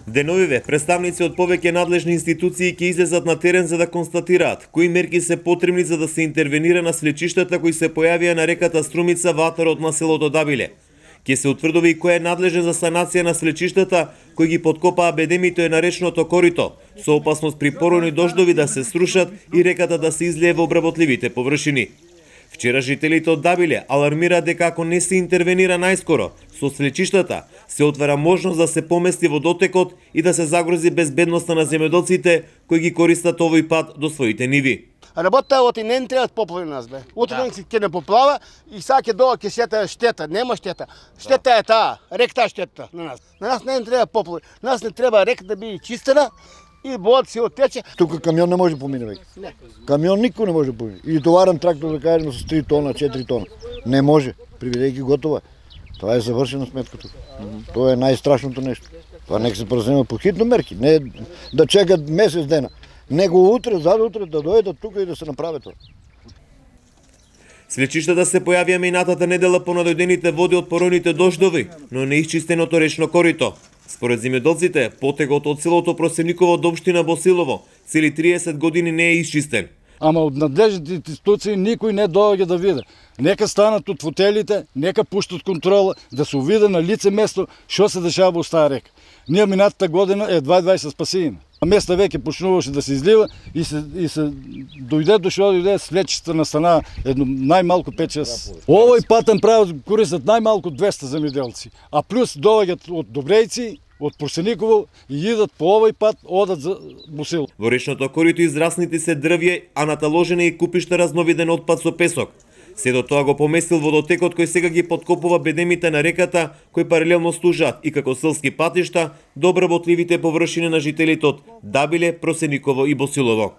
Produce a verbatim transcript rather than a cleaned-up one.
Деновиве, представници од повеќе надлежни институции ќе излезат на терен за да констатираат кои мерки се потребни за да се интервенира на слечиштата кои се појавија на реката Струмица во атарот на селото Дабиле. Ќе се утврдови и кој е надлежен за санација на слечиштата кои ги подкопаа бедемите на речното корито, со опасност при поройни дождови да се срушат и реката да се излие во обработливите површини. Вчера жителите од Дабиле алармираат дека ако не се интервенира најскоро со слечиштата, се отвара можност да се помести водотекот и да се загрози безбедноста на земјоделците кои ги користат овој пат до своите ниви. Работа оти не требаат поплави нас бе. Утре да. Ќе не поплава и сега ќе доа ќе сета штета, нема штета. Штета да. Е таа, ректа штета на нас. На нас не треба поплави. Нас не треба река да биде чистена и водата си оттече. Тука камион не може да помине веќе. Камион никој не може да помине. И товарен трактор да кажеме со три тона, четири тона. Не може, приведејќи готова. Тоа е завршена сметката. Mm-hmm. Тоа е најстрашното нешто. Тоа нека се презема по хитно мерки, не да чекат месец дена. Него утре, задутре да дојдат тука и да се направи тоа. Слечиштата се појавија минатата недела по надојдените води од поройните дождови, но не изчистеното речно корито. Според земјоделците, потегот од селото Просениково до општина Босилово цели триесет години не е изчистен. Ама од надлежните институции никој не доаѓа да види. Нека станат од фотелите, нека пуштат контрола, да се увиде на лице место што се дешава во таа река. Ние минатата година едва едва се спасиме. А места веќе почнуваше да се излива и се и се дојде до што дојде слечиста настана едно најмалку пет-шест. Овој патен правец користат најмалку двеста земјоделци, а плюс доаѓаат од Добрејци, од Просениково и идат по овој пат, одат за Босилово. Во речното корито израснати се дрвје, а наталожена и купишта разновиден отпад со песок. Се до тоа го поместил водотекот кој сега ги подкопува бедемите на реката, кои паралелно служат и како селски патишта до обработливите површини на жителите од Дабиле, Просениково и Босилово.